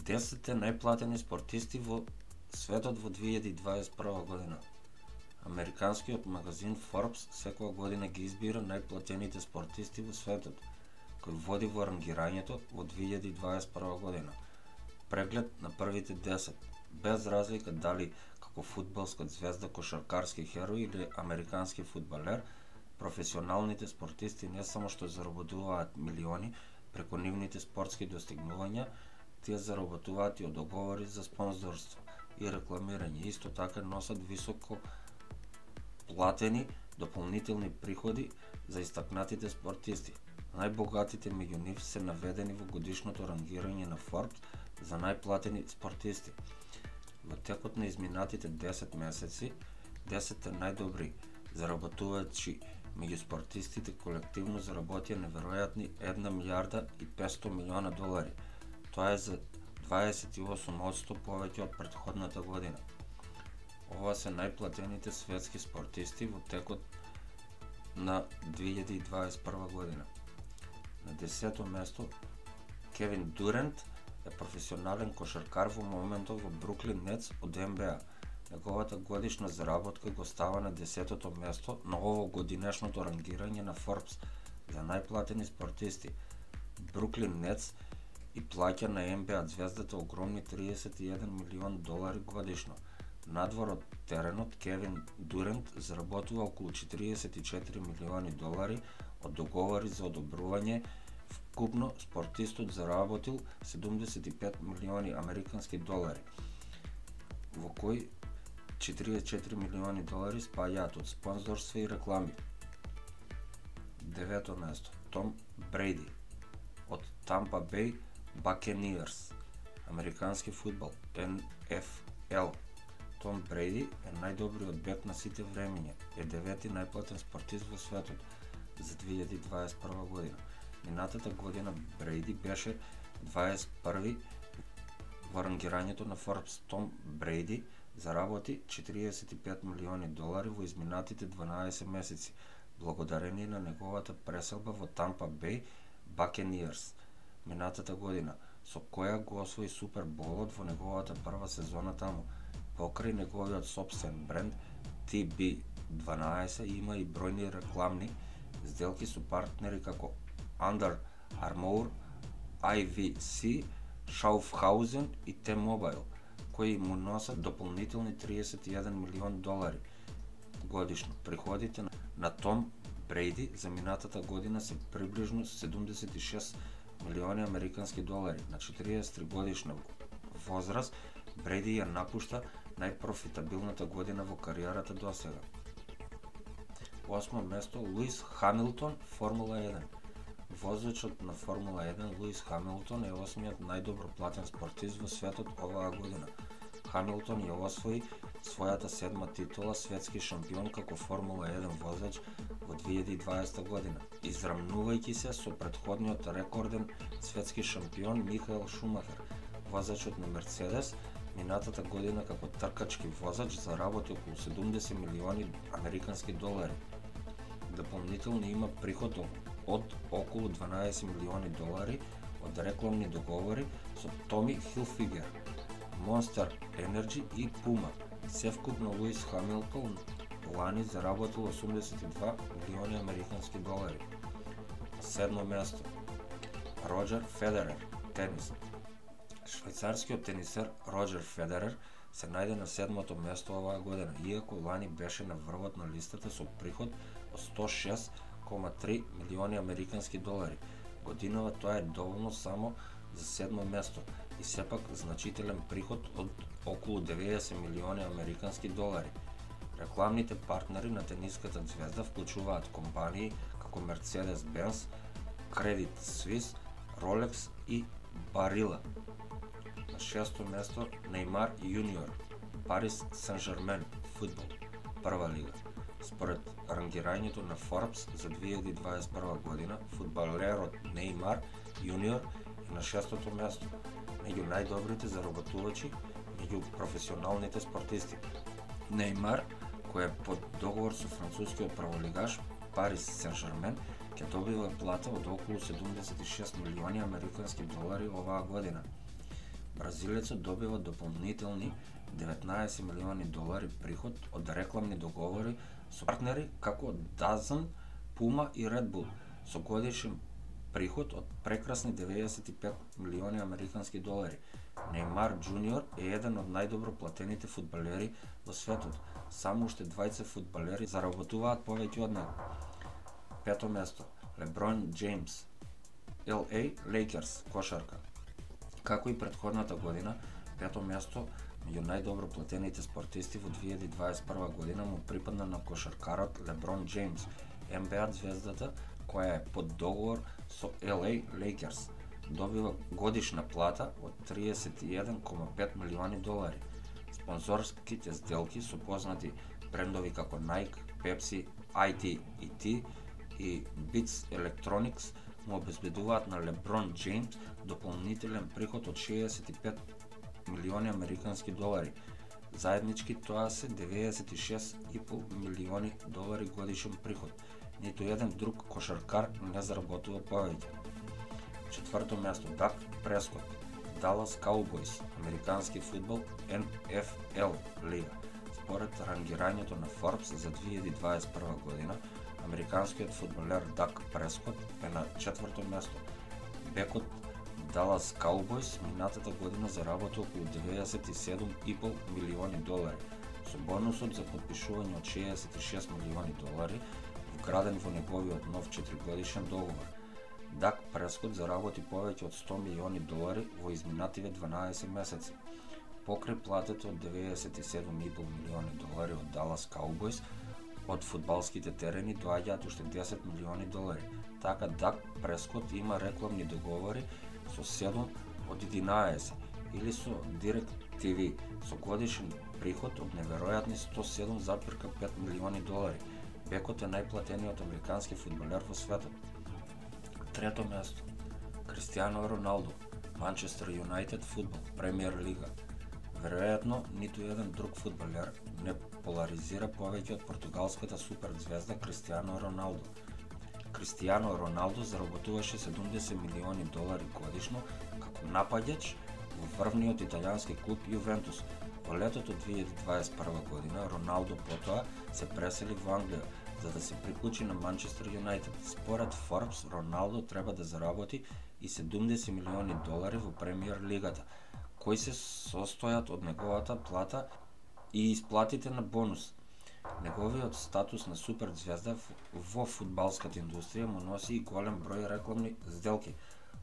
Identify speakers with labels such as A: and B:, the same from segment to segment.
A: 10 најплатени спортисти во светот во 2021 година. Американскиот магазин Forbes секоја година ги избира најплатените спортисти во светот, кој води во рангирањето во 2021 година. Преглед на првите 10, без разлика дали како фудбалска звезда, кошаркарски херој или американски фудбалер, професионалните спортисти не само што заработуваат милиони преку нивните спортски достигнувања, тие заработуваат и од договори за спонзорство и рекламирање. Исто така носат високо платени дополнителни приходи за истакнатите спортисти. Најбогатите меѓу нив се наведени во годишното рангирање на Forbes за најплатени спортисти. Во текот на изминатите 10 месеци, 10 најдобри заработувачи меѓу спортистите колективно заработија неверојатни 1 милијарда и 500 милиона долари. Тоа е за 28% повеќе од претходната година. Ова се најплатените светски спортисти во текот на 2021 година. На 10-то место Кевин Дюрант е професионален кошаркар во моментот во Бруклин Нетс од НБА. Неговата годишна заработка го става на 10-то место на овогодинешното рангирање на Forbes за најплатени спортисти. Бруклин Нетс и плаќа на НБА звездата огромни 31 милион долари годишно. Надвор од теренот, Кевин Дюрант заработува околу 44 милиони долари од договори за одобрување. Вкупно спортистот заработил 75 милиони американски долари, во кои 44 милиони долари спаѓаат од спонзорство и реклами. 9-то место Том Брейди од Тампа Бей Бакениерс, американски фудбал, НФЛ. Том Брейди е најдобриот бек на сите времиња, е 9-ти најплатен спортист во светот за 2021 година. Минатата година Брейди беше 21 во рангирањето на Forbes. Том Брейди заработи 45 милиони долари во изминатите 12 месеци, благодарение на неговата преселба во Тампа Бей Бакениерс минатата година, со која го освои Суперболот во неговата прва сезона таму. Покрај неговиот сопствен бренд TB12 има и бројни рекламни сделки со партнери како Under Armour, IVC, Schaufhausen и T-Mobile, кои му носат дополнителни 31 милион долари годишно. Приходите на Том Брейди за минатата година се приближно 76 милиони американски долари. На 43 годишна возраст Брейди ја напушта најпрофитабилната година во кариерата досега. 8 место Луис Хамилтон, Формула 1. Возачот на Формула 1 Луис Хамилтон е 8-миот најдобро платен спортист во светот оваа година. Хамилтон ја освои својата 7-ма титула светски шампион како Формула 1 возач во 2020 година, израмнувајќи се со претходниот рекорден светски шампион Михаел Шумахер. Возачот на Мерцедес минатата година како тркачки возач заработи околу 70 милиони американски долари. Дополнително има приход од околу 12 милиони долари од рекламни договори со Томи Хилфигер, Monster Energy и Puma. Севкупно Луис Хамилтон лани заработил 82 милиони американски долари. 7 место Роџер Федерер, тенис. Швајцарскиот тенисер Роџер Федерер се најде на 7-то место оваа година, иако лани беше на врвот на листата со приход од 106,3 милиони американски долари. Годинава тоа е доволно само за 7-мо место и сепак значителен приход од околу 90 милиони американски долари. Рекламните партнери на тениската звезда вклучуваат компании како Mercedes-Benz, Credit Suisse, Rolex и Barilla. На 6-то место Неймар Јуниор, Парис Сен-Жермен, фудбал, прва лига. Според рангирањето на Forbes за 2021 година, фудбалерот Неймар Јуниор е на 6-то место меѓу најдобрите заработувачи меѓу професионалните спортисти. Неймар, кој е под договор со францускиот прволигаш Парис Сен-Жермен, ќе добива плата од околу 76 милиони американски долари оваа година. Бразилецот добива дополнителни $19 милиони приход од рекламни договори со партнери како DAZN, Puma и Red Bull, со годишен приход од прекрасни $95 милиони. Нејмар Џуниор е еден од најдобро платените фудбалери во светот. Само уште двајца фудбалери заработуваат повеќе од него. Пето место, Леброн Џејмс, LA Lakers, кошарка. Како и претходната година, пето место меѓу најдобро платените спортисти во 2021 година му припадна на кошаркарот Леброн Џејмс, NBA звездата која е под договор со LA Lakers. Добива годишна плата од $31,5 милиони. Спонзорските сделки со познати брендови како Nike, Pepsi, IT&T и Beats Electronics му обезбедуваат на Леброн Џејмс дополнителен приход од $65 милиони. Заеднички тоа се $96,5 милиони годишен приход. Ниту еден друг кошаркар не заработува повеќе. Четврто место, Дак Прескот, Далас Cowboys, американски фудбал, NFL лига. Според рангирањето на Forbes за 2021 година, американскиот фудбалер Дак Прескот е на четврто место. Бекот Далас Cowboys минатата година заработи околу $97,5 милиони, со бонусот за подпишување од $66 милиони, вграден во неговиот нов 4-годишен договор. Дак Прескот заработи повеќе од $100 милиони во изминативе 12 месеци. Покрај платата од $97,5 милиони од Далас Cowboys, од фудбалските терени доаѓаат уште $10 милиони. Така Дак Прескот има рекламни договори со 7 од 11 или со DirecTV со годишен приход од неверојатни $107,5 милиони. Бекот е најплатениот американски фудбалер во светот. Трето место, Кристијано Роналдо, Манчестер Юнајтед фудбал, Премиер лига. Веројатно, ниту еден друг фудбалер не поларизира повеќе од португалската суперзвезда Кристијано Роналдо. Кристијано Роналдо заработуваше $70 милиони годишно како нападјач во врвниот италијански клуб Јувентус. Во летото 2021 година Роналдо потоа се пресели во Англија за да се приклучи на Манчестер Юнајтед. Според Forbes, Роналдо треба да заработи и $70 милиони во Премиер лигата, кои се состојат од неговата плата и исплатите на бонус. Неговиот статус на суперзвезда во фудбалската индустрија му носи и голем број рекламни сделки.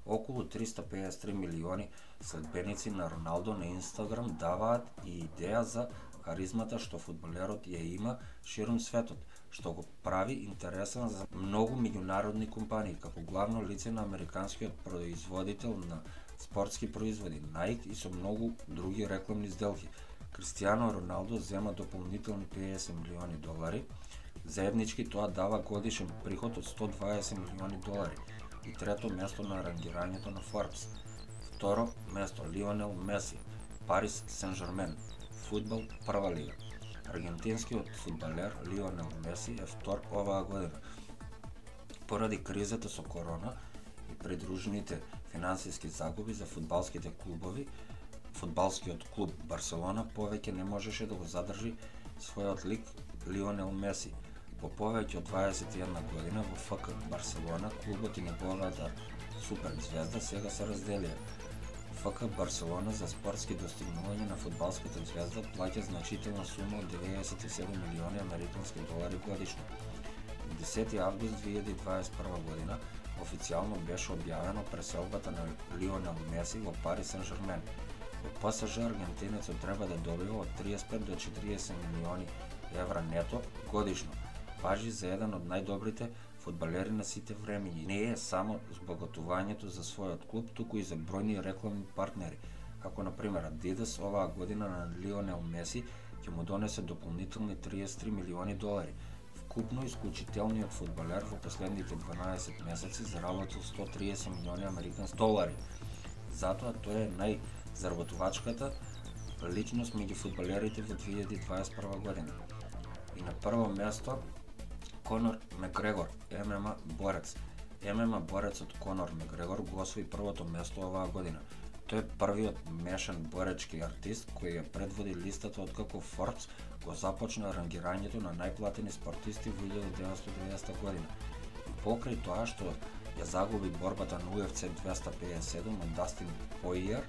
A: Околу 353 милиони следбеници на Роналдо на Инстаграм даваат и идеја за харизмата што фудбалерот ја има ширум светот, што го прави интересен за многу меѓународни компании, како главно лице на американскиот производител на спортски производи Nike и со многу други рекламни сделки. Кристијано Роналдо зема дополнителни $50 милиони. Заеднички тоа дава годишен приход од $120 милиони. И трето место на рангирањето на Forbes. Второ место, Лионел Меси, Парис Сен-Жермен, фудбал, прва лига. Аргентинскиот фудбалер Лионел Меси е втор оваа година. Поради кризата со корона и придружените финансиски загуби за фудбалските клубови, фудбалскиот клуб Барселона повеќе не можеше да го задржи својот лик Лионел Меси. По повеќе од 21 година во ФК Барселона клубот и неговата суперзвезда сега се разделија. ФК Барселона за спортски достигнувања на фудбалската звезда плаќа значителна сума од $97 милиони годишно. 10 август 2021 година официјално беше објавено преселбата на Лионел Меси во Парис Сен-Жермен. Во ПСЖ аргентинецот треба да добива од 35 до 40 милиони евра нето годишно. Важи за еден од најдобрите фудбалери на сите времиња. Не е само збогатувањето за својот клуб, туку и за бројни рекламни партнери, како на пример Adidas оваа година на Лионел Меси ќе му донесе дополнителни $33 милиони. Вкупно исклучителниот фудбалер во последните 12 месеци заработил $130 милиони. Затоа тој е најзаработувачката личност меѓу фудбалерите во 2021 година. И на прво место Конор Мекгрегор, ММА борец. ММА борецот Конор Мекгрегор го освои првото место оваа година. Тој е првиот мешан боречки артист кој ја предводи листата откако Forbes го започна рангирањето на најплатени спортисти во 1990 година. И покрај тоа што ја загуби борбата на UFC 257 од Дастин Поиер,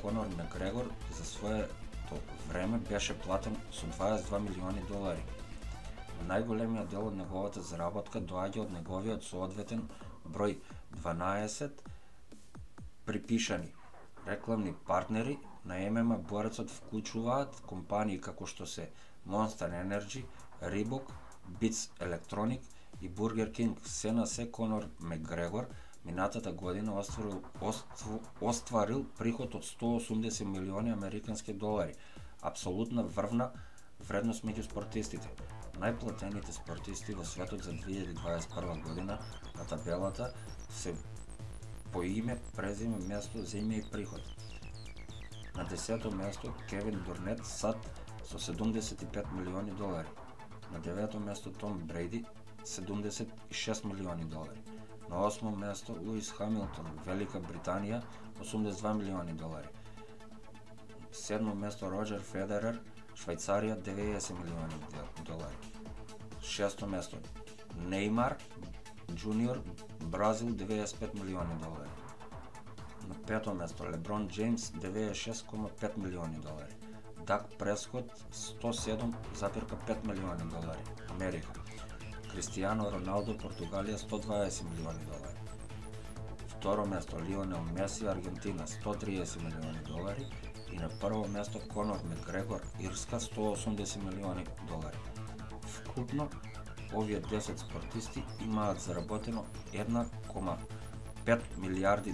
A: Конор Мегрегор за своето време беше платен со $22 милиони. Најголемиот дел од неговата заработка доаѓа од неговиот соодветен број 12 припишани рекламни партнери. На ММА борецот вклучуваат компании како што се Monster Energy, Reebok, Beats Electronic и Burger King. Се на се Конор Мегрегор минатата година остварил приход од $180 милиони американски долари, апсолутна врвна вредност меѓу спортистите. Најплатените спортисти во светот за 2021 година на табелата се по име, презиме, место, земја и приход. На 10-то место Кевин Дурнет САД со $75 милиони. На 9-то место Том Брейди $76 милиони. На 8-то место Луис Хамилтон, Велика Британија, $82 милиони. 7-то место Роџер Федерер, Швајцарија, $90 милиони. 6-то место Неймар Джуниор, Бразил, $95 милиони. На 5-то место Леброн Джеймс, $96,5 милиони. Дак Прескот, $107,5 милиони, Америка. Кристијано Роналдо, Португалија, $120 милиони. Второ место Лионел Меси, Аргентина, $130 милиони. И на прво место Конор Мегрегор, Ирска, $180 милиони. Вкупно, овие 10 спортисти имаат заработено $1,5 милијарди.